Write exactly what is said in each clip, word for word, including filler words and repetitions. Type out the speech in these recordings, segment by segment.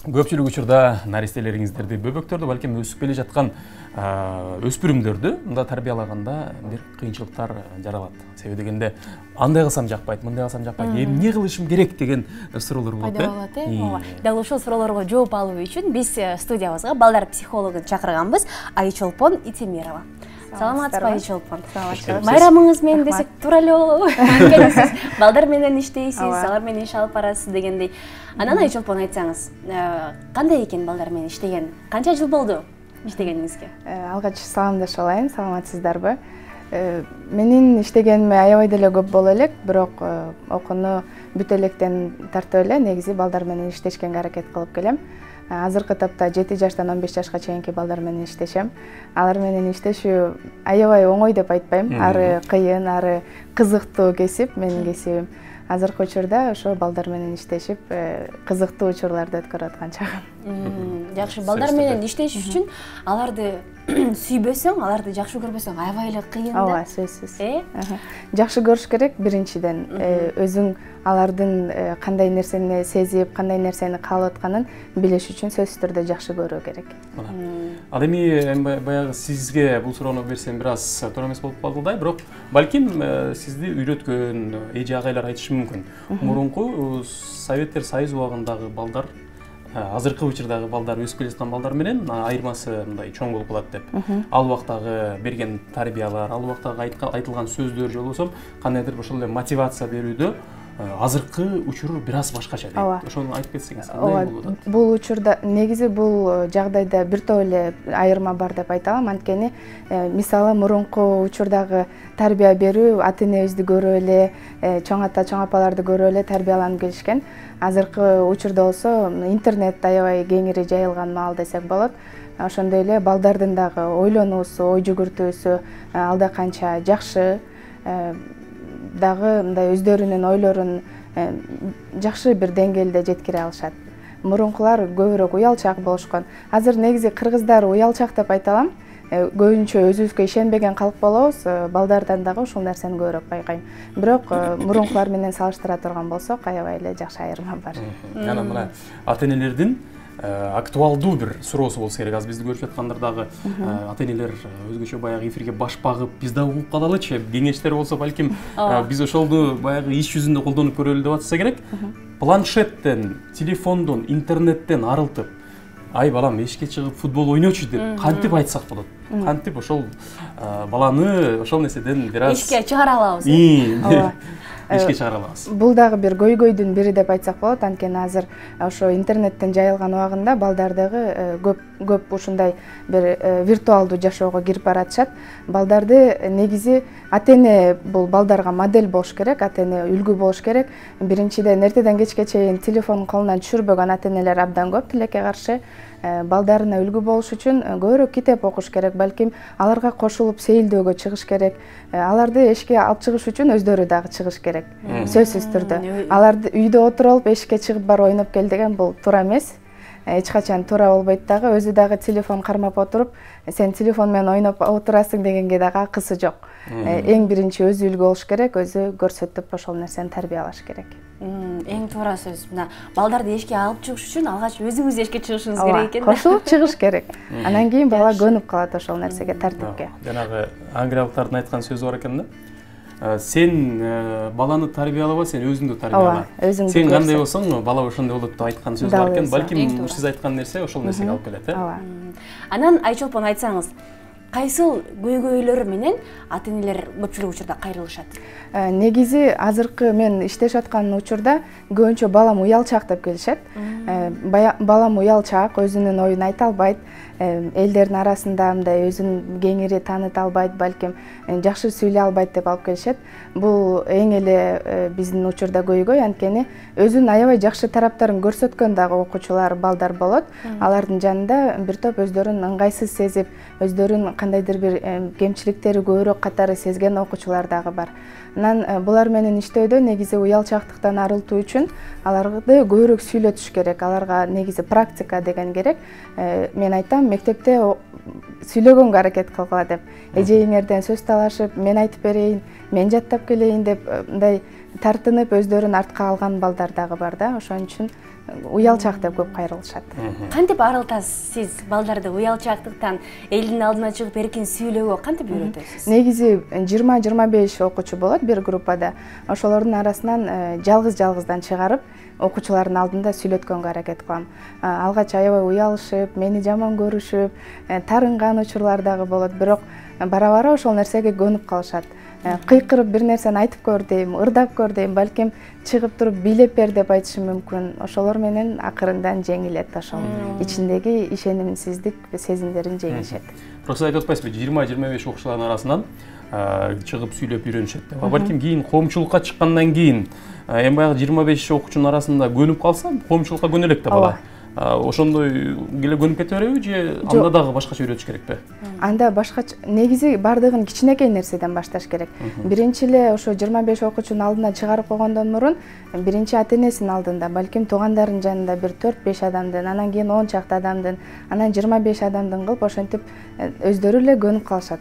көпчүлүк учурда наристелериңиздерди, бөбөктөрдү, балким өсүп келе жаткан өспүрүмдөрдү мында тарбиялаганда бир кыйынчылыктар жаралат. Себеби дегенде андай кылсам жакпайт, мындай кылсам жакпайт, эмне кылышым керек деген суроолор болот. Пайда болот, э? Ооба. Дал ушул суроолорго жооп алуу үчүн биз студиябызга балдар психологун чакырганбыз, Айчолпон Итемирова. Саламатсызбы Айчолпон? Байрамыңыз менен десек туура эле болобу? Анткени сиз балдар менен иштейсиз, алар менен иш алып барасыз дегендей. Анан Айчолпон, айтсаңыз, кандай экен балдар менен иштеген? Канча жыл болду иштегениңизге? Алгач саламдашып алайын, саламатсыздарбы? Менин иштегениме аябай деле көп боло элек, бирок окууну бүтө электен тартып эле негизи балдар менен иштешкенге аракет кылып келем. Азыркы тапта жети жаштан он беш жашка чейинки балдар менен иштешем. Алар менен иштешүү аябай оңой деп айтпайм. Ары кыйын, ары кызыктуу кесип, менин кесибим. Азыркы учурда ошо балдар менен иштешип, кызыктуу учурларды өткөрүп аткан чагым. Жакшы, балдар менен иштеш үчүн аларды сүйбөсөң, аларды жакшы көрбөсөң аябай эле кыйын да. Ооба, сөзсүз. Жакшы көрүш керек биринчиден. Өзүң алардын кандай нерсени сезип, кандай нерсени каалап атканын билиш үчүн сөзсүз түрдө жакшы көрүү керек. Ал эми баягы сизге бул суроону берсем бир аз туура эмес болуп калды да, бирок балким сизди үйрөткөн эже агайлар айтышы мүмкүн. Мурунку Советтер Союзу убагындагы балдар азыркы учурдагы балдар, өсүп келе жаткан балдар менен айырмасы мындай чоң болуп калат деп. Ал убактагы берген тарбиялар, ал убактагы айтылган сөздөр же болбосо кандайдыр ошол эле мотивация берүүдө азыркы учур бир аз башкача дейт. Ошону айтып кетсеңиз, кандай болуп атат? Бул учурда негизи бул жагдайда бир топ эле айырма бар деп айта алам. Анткени мисалы мурунку учурдагы тарбия берүү, ата-энебизди көрүп эле, чоң ата, чоң апаларды көрүп эле тарбияланып келишкен. Азыркы учурда болсо интернет аябай кеңири жайылган маал десек болот. Ошондой эле балдардын дагы ойлонуусу, ой жүгүртүүсү алда канча жакшы, дагы мындай өздөрүнүн ойлорун жакшы бир деңгээлде жеткире алышат. Мурункулар көбүрөөк уялчак болушкан. Азыр негизи кыргыздар уялчак деп айта алам. Көбүнчө өзүбүзгө ишенбеген калк болобуз, балдардан дагы ушул нерсени көбүрөөк байкайм. Бирок мурункулар менен салыштыра турган болсок, аябай эле жакшы айырма бар. Анан мына ата-энелердин актуалдуу бир суроосу болсо керек. Аз бизди көрүп жаткандар дагы ата-энелер өзгөчө баягы эфирге башпагып, биз дагы угуп калалычы, кеңештер болсо балким биз ошолду баягы иш жүзүндө колдонуп көрөлү деп атса керек. Планшеттен, телефондон, интернеттен арылтып, ай балам эшикке чыгып футбол ойночу деп кантип айтсак болот? Кантип ошол баланы ошол нерседен бир аз эшикке чыгара алабыз? Ооба. Эшикке чыгара алабыз. Бул дагы бир көйгөйдүн бири деп айтсак болот. Анткени азыр ошо интернеттен жайылган убагында балдар дагы көп көп ушундай бир виртуалдуу жашоого кирип баратышат. Балдарды негизи ата-эне бул балдарга модель болуш керек, ата-эне үлгү болуш керек. Биринчиден эртеден кечке чейин телефонун колунан түшүрбөгөн ата-энелер абдан көп, тилекке каршы. Балдарына үлгү болуш үчүн көбүрөөк китеп окуш керек, балким аларга кошулуп сейилдөөгө чыгыш керек. Аларды эшикке алып чыгыш үчүн өздөрү дагы чыгыш керек. Сөзсүз түрдө. Аларды үйдө отуруп алып эшикке чыгып барып ойноп кел деген бул туура эмес. Эч качан туура болбойт дагы. Өзү дагы телефон кармап отуруп, сен телефон менен ойноп отурасың дегенге дагы акысы жок. Эң биринчи өзү үлгү болуш керек, өзү көрсөтүп ошол нерсени тарбиялаш керек. Эң туура сөз. Мына балдарды эшикке алып чыгыш үчүн алгач өзүңүз эшикке чыгышыңыз керек экен. Кошулуп чыгыш керек. Анан кийин бала көнүп калат ошол нерсеге, тартипке. Жанагы англиялыктардын айткан сөзү бар экен да. Сен баланы тарбиялаба, сен өзүңдү тарбияла. Сен кандай болсоң, бала ошондой болот деп айткан сөз бар экен. Балким сиз айткан нерсе ошол нерсеге алып келет, э? Ооба. Анан Айчолпон, айтсаңыз, кайсыл көйгөйлөр менен ата-энелер көпчүлүк учурда кайрылышат? Негизи азыркы мен иштешип аткан учурда көбүнчө балам уялчак деп келишет. Балам уялчак, өзүнүн оюн айта албайт, элдердин арасында мындай өзүн кеңири тааныта албайт, балким жакшы сүйлөй албайт деп алып келишет. Бул эң эле биздин учурда көйгөй, анткени өзүнүн аябай жакшы тараптарын көрсөткөн дагы окуучулар, балдар болот. Алардын жанында бир топ өздөрүн ыңгайсыз сезип, өздөрүн кандайдыр бир кемчиликтери көбүрөөк катары сезген окуучулар дагы бар. Анан булар менен иштөөдө негизи уялчактыктан арылтуу үчүн аларды көбүрөөк сүйлөтүш керек. Аларга негизи практика деген керек. Мен айтам, мектепте сүйлөгөнгө аракет кылгыла деп. Эжеиңерден сөз талашып, мен айтып берейин, мен жаттап келейин деп мындай тартынып өздөрүн артка алган балдар дагы бар да. Ошон үчүн уялчаак деп көп кайрылышат. Кантип арылтасыз сиз балдарды уялчаактыктан элдин алдына чыгып эркин сүйлөөгө кантип үйрөтөсүз? Негизи жыйырма жыйырма беш окуучу болот бир группада. Ошолордун арасынан жалгыз-жалгыздан чыгарып окуучулардын алдында сүйлөткөнгө аракет кылам. Алгач аябай уялышып, мени жаман көрүшүп, тарынган учурлар дагы болот, бирок бара-бара ошол нерсеге көнүп калышат. Кыйкырып бир нерсени айтып көр дейм, ырдап көр дейм, балким чыгып туруп бийлеп бер деп айтышым мүмкүн. Ошолор менен акырындан жеңилет ошол ичиндеги ишенимсиздик сезимдерин жеңишет. Просто айтып атпайсызбы, жыйырма жыйырма беш окуучулардын арасынан чыгып сүйлөп үйрөнүшөт деп. Балким кийин коомчулукка чыккандан кийин эми баягы жыйырма беш окуучунун арасында көнүп калса, коомчулукка көнө элек да бала. Ошондой эле көнүп кете береби же анда дагы башкача үйрөтүш керекпи? Анда башкача, негизи бардыгын кичинекей нерседен башташ керек. Биринчи эле ошо жыйырма беш окуучунун алдына чыгарып койгондон мурун биринчи ата-энесинин алдында, балким туугандарынын жанында бир төрт беш адамдын, анан кийин он чакты адамдын, анан жыйырма беш адамдын кылып ошентип өздөрү эле көнүп калышат.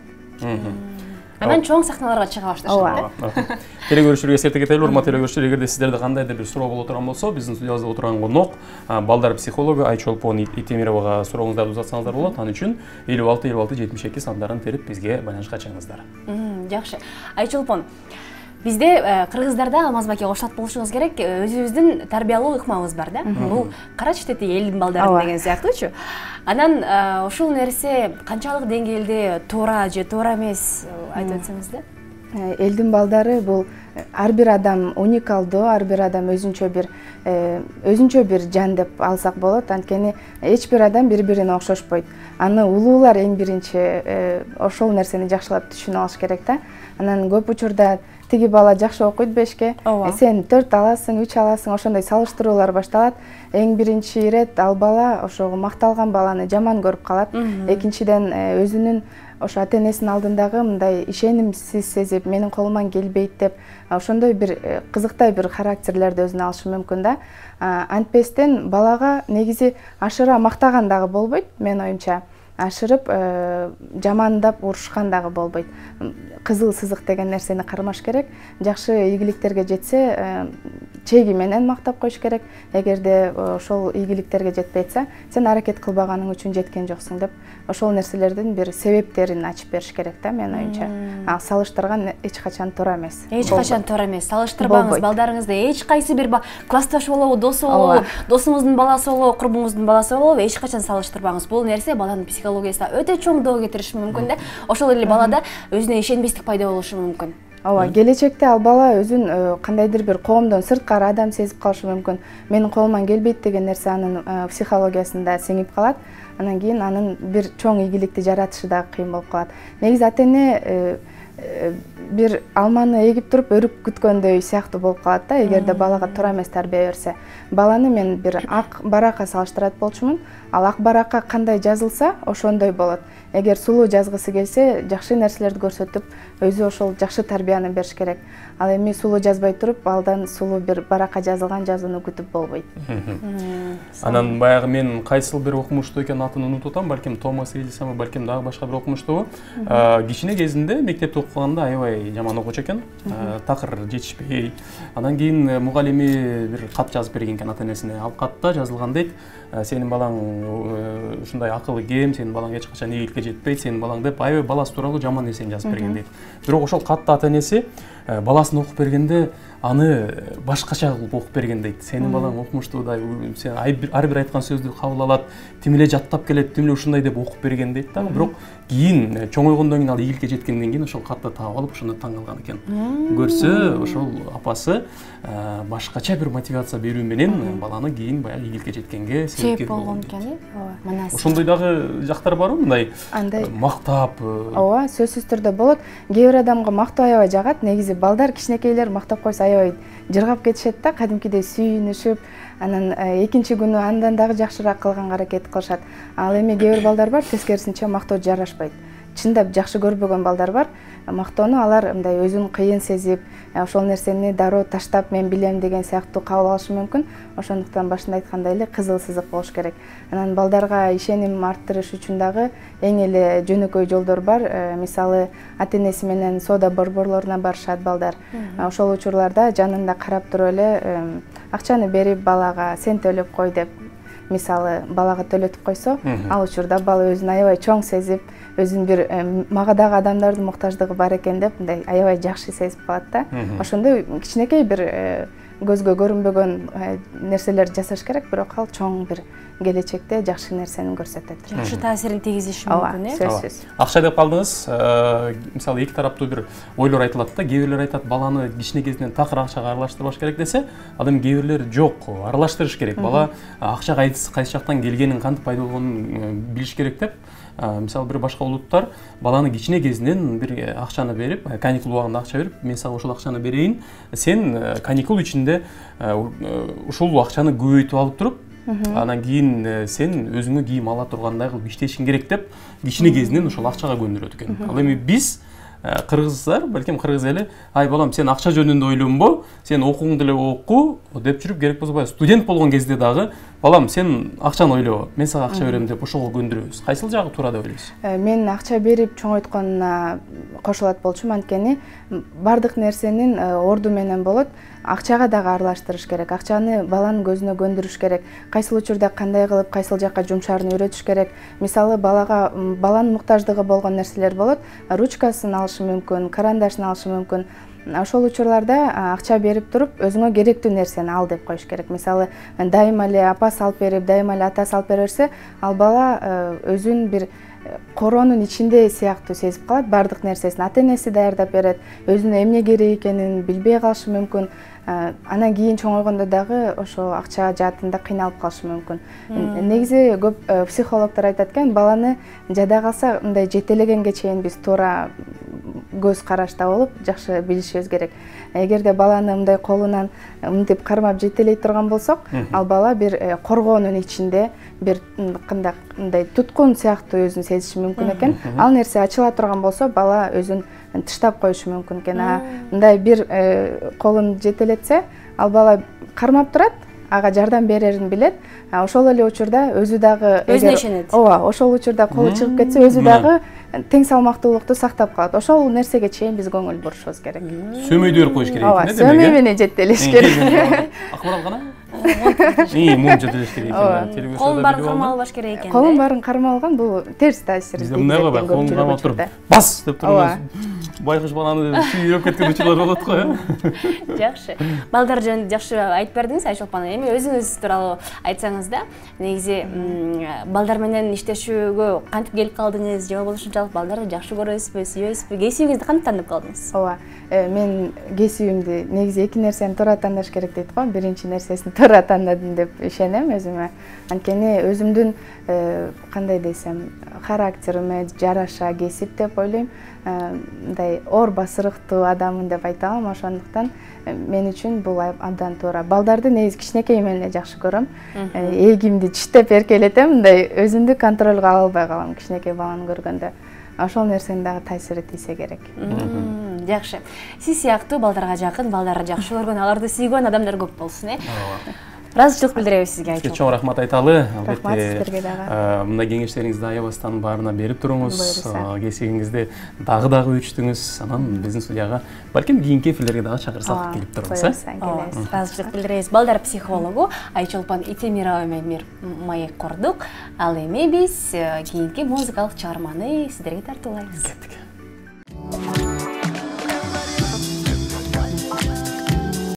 Анан чоң сахналарга чыга башташат. Теле көрүүчүлөргө эсерте кетели, урматтуу теле көрүүчүлөр, эгерде сиздерде кандайдыр бир суроо боло турган болсо, биздин студиябызда отурган конок балдар психологу Айчолпон Итемировага сурооңуздарды узатсаңыздар болот. Ал үчүн элүү алты элүү алты жетимиш эки сандарын терип бизге байланышка чыгыңыздар. Жакшы. Айчолпон, бизде кыргыздарда Алмазбаке окшот болушуңуз керек, өзүбүздүн тарбиялуу ыкмабыз бар да. Бул кара читети элдин балдары деген сыяктуучу. Анан ушул нерсе канчалык деңгээлде туура же туура эмес айтып өтсөңүз да? Элдин балдары бул ар бир адам уникалдуу, ар бир адам өзүнчө бир өзүнчө бир жан деп алсак болот. Анткени эч бир адам бири-бирине окшошпойт. Аны улуулар эң биринчи ошол нерсени жакшылап түшүнүп алыш керек да. Анан көп учурда тиги бала жакшы окуйт бешке, сен төрт аласың, үч аласың, ошондой салыштыруулар башталат. Эң биринчи ирет ал бала ошого макталган баланы жаман көрүп калат. Экинчиден өзүнүн ошо ата-энесинин алдындагы мындай ишенимсиз сезип, менин колуман келбейт деп, ошондой бир кызыктай бир характерлерди өзүнө алышы мүмкүн да. Антпестен балага негизи ашыра мактаган дагы болбойт, менин оюмча. Ашырып жамандап урушкан дагы болбойт. Кызыл сызык деген нерсени кармаш керек. Жакшы ийгиликтерге жетсе, чеги менен мактап коюш керек. Эгерде ошол ийгиликтерге жетпей атса, сен аракет кылбаганың үчүн жеткен жоксуң деп, ошол нерселердин бир себептерин ачып бериш керек да, менин оюмча. А салыштырган эч качан туура эмес. Эч качан туура эмес. Салыштырбаңыз балдарыңызды. Эч кайсы бир классташ болобу, досу болобу, досуңуздун баласы болобу, курбуңуздун баласы болобу, эч качан салыштырбаңыз. Бул нерсе баланын психологиясына өтө чоң доо кетириши мүмкүн да. Ошол эле балада өзүнө ишенбестик пайда болушу мүмкүн. Ооба, келечекте ал бала өзүн кандайдыр бир коомдон сырткары адам сезип калышы мүмкүн. Менин колуман келбейт деген нерсе анын психологиясында сиңип калат. Анан кийин анын бир чоң ийгиликти жаратышы дагы кыйын болуп калат. Негизи ата-эне бир алманы эгип туруп өрүк күткөндөй сыяктуу болуп калат да, эгерде балага туура эмес тарбия берсе. Баланы мен бир ак баракка салыштырат болчумун. Ал ак баракка кандай жазылса, ошондой болот. Эгер сулуу жазгысы келсе, жакшы нерселерди көрсөтүп, өзү ошол жакшы тарбияны бериш керек. Ал эми сулуу жазбай туруп, балдан сулуу бир баракка жазылган жазууну күтүп болбойт. Анан баягы мен кайсыл бир окумуштуу экенин атын унутуп атам, балким Томас Эдисонбу, балким дагы башка бир окумуштуу. Кичине кезинде мектепте окуганда аябай жаман окуучу экен, такыр жетишпей. Анан кийин мугалими бир кат жазып берген экен ата-энесине. Ал катта жазылган дейт: сенин балаң ушундай акылы кем, сенин балаң эч качан ийгиликке жетпейт, сенин балаң деп аябай баласы тууралуу жаман нерсени жазып берген дейт. Бирок ошол катта ата-энеси баласын окуп бергенде аны башкача кылып окуп берген дейт. Сенин балаң окумуштуудай, сен ар бир айткан сөздү кабыл алат, тим эле жаттап келет, тим эле ушундай деп окуп берген дейт да. Бирок кийин чоңойгондон кийин ал ийгиликке жеткенден кийин ошол катты таап алып, ошондо таң калган экен. Көрсө, ошол апасы башкача бир мотивация берүү менен баланы кийин баягы ийгиликке жеткенге себепкер болгон экен. Ооба. Ошондой дагы жактар барбы, мындай мактап? Ооба, сөзсүз түрдө болот. Кээ бир адамга мактоо аябай жагат. Негизи балдар кичинекейлер мактап койсо аябай жыргап кетишет да, кадимкидей сүйүнүшүп, анан экинчи күнү андан дагы жакшыраак кылганга аракет кылышат. Ал эми кээ бир балдар бар, тескерисинче мактоо жарашпайт. Чындап жакшы көрбөгөн балдар бар. Мактоону алар мындай өзүн кыйын сезип, ошол нерсени дароо таштап мен билем деген сыяктуу кабыл алышы мүмкүн. Ошондуктан башында айткандай эле кызыл сызык болуш керек. Анан балдарга ишеним арттырыш үчүн дагы эң эле жөнөкөй жолдор бар. Мисалы, ата-энеси менен соода борборлоруна барышат балдар. Ошол учурларда жанында карап туруп эле акчаны берип балага сен төлөп кой деп мисалы балага төлөтүп койсо, ал учурда бала өзүн аябай чоң сезип, өзүн бир мага дагы адамдардын муктаждыгы бар экен деп мындай аябай жакшы сезип калат да. Ошондой кичинекей бир көзгө көрүнбөгөн нерселерди жасаш керек, бирок ал чоң бир келечекте жакшы нерсени көрсөтөт. Жакшы таасирин тийгизиши мүмкүн, э? Сөзсүз. Акча деп калдыңыз. Мисалы эки тараптуу бир ойлор айтылат да. Кээ бирлер айтат, баланы кичине кезинен такыр акчага аралаштырбаш керек десе, ал эми кээ бирлер жок, аралаштырыш керек. Бала акча кайсы жактан келгенин, кантип пайда болгонун билиш керек деп. Мисалы бир башка улуттар баланы кичине кезинен бир акчаны берип, каникул убагында акча берип, мен сага ушул акчаны берейин, сен каникул ичинде ушул акчаны көбөйтүп алып туруп, анан кийин сен өзүңө кийим ала тургандай кылып иштешиң керек деп кичине кезинен ошол акчага көндүрөт экен. Ал эми биз кыргыздар, балким кыргыз эли, ай балам сен акча жөнүндө ойлонбо, сен окууңду эле оку деп жүрүп, керек болсо баягы студент болгон кезде дагы балам сен акчаны ойло, мен сага акча берем деп ошого көндүрөбүз. Кайсыл жагы туура деп ойлойсуз? Мен акча берип чоңойтконуна кошулат болчумун, анткени бардык нерсенин орду менен болот. Акчага дагы аралаштырыш керек, акчаны баланын көзүнө көндүрүш керек, кайсыл учурда кандай кылып кайсыл жакка жумшаарын үйрөтүш керек. Мисалы балага баланын муктаждыгы болгон нерселер болот, ручкасын алышы мүмкүн, карандашын алышы мүмкүн. Ошол учурларда акча берип туруп өзүңө керектүү нерсени ал деп коюш керек. Мисалы дайыма эле апасы алып берип, дайыма эле атасы алып бере берсе, ал бала өзүн бир короонун ичинде сыяктуу сезип калат, бардык нерсесин ата-энеси даярдап берет, өзүнө эмне керек экенин билбей калышы мүмкүн. Анан кийин чоңойгондо дагы ошо акча жаатында кыйналып калышы мүмкүн. Негизи көп психологдор айтат экен, баланы жада калса мындай жетелегенге чейин биз туура көз карашта болуп жакшы билишибиз керек. Эгерде баланы мындай колунан мынтип кармап жетелей турган болсок, ал бала бир коргоонун ичинде бир кандай мындай туткун сыяктуу өзүн сезиши мүмкүн экен. Ал нерсе ачыла турган болсо, бала өзүн тыштап коюшу мүмкүн экен. Мындай бир колун жетелетсе, ал бала кармап турат, ага жардам берерин билет. Ошол эле учурда өзү дагы өзүнө ишенет. Ооба, ошол учурда колу чыгып кетсе, өзү дагы тең салмактуулукту сактап калат. Ошол нерсеге чейин биз көңүл бурушубуз керек. Сөмөйдү берип коюш керек. Ооба, сөмөй менен жетелеш керек. Акбарал кана? И, мун жетелеш керек экен. Колун баарын кармалбаш керек экен. Колун баарын кармалган бул терс таасир. Бизде мындай го бар, колун кармап туруп, бас деп турган. Байкуш баланы сүйрөп кеткен учурлар болот го, э? Жакшы. Балдар жөнүндө жакшы айтып бердиңиз, Айчолпон. Эми өзүңүз тууралуу айтсаңыз да, негизи балдар менен иштешүүгө кантип келип калдыңыз, же болбосо ушунчалык балдарды жакшы көрөсүзбү, сүйөсүзбү, кесибиңизди кантип тандап калдыңыз? Ооба, мен кесибимди негизи эки нерсени туура тандаш керек дейт го. Биринчи нерсесин туура тандадым деп ишенем өзүмө. Анткени өзүмдүн кандай десем, характериме жараша кесип деп ойлойм. Мындай оор басырыктуу адаммын деп айта алам. Ошондуктан мен үчүн бул абдан туура. Балдарды негизи кичинекейимден эле жакшы көрөм. Эгимди чиштеп эркелетем, мындай өзүмдү контролго ала албай калам кичинекей баланы көргөндө. Ошол нерсенин дагы таасири тийсе керек. Жакшы. Сиз сыяктуу балдарга жакын, балдарды жакшы көргөн, аларды сүйгөн адамдар көп болсун, э? Ыраазычылык билдиребиз сизге, Айчолпон. Сизге чоң рахмат айталы. Рахмат сиздерге дагы. Мындай кеңештериңизди аябастан баарына берип туруңуз. Кесибиңизди дагы-дагы өчтүңүз. Анан биздин студияга балким кийинки эфирлерге дагы чакырсак келип туруңуз, э? Ыраазычылык билдиребиз. Балдар психологу Айчолпон Итемирова менен бир маек курдук. Ал эми биз кийинки музыкалык чыгарманы сиздерге тартуулайбыз.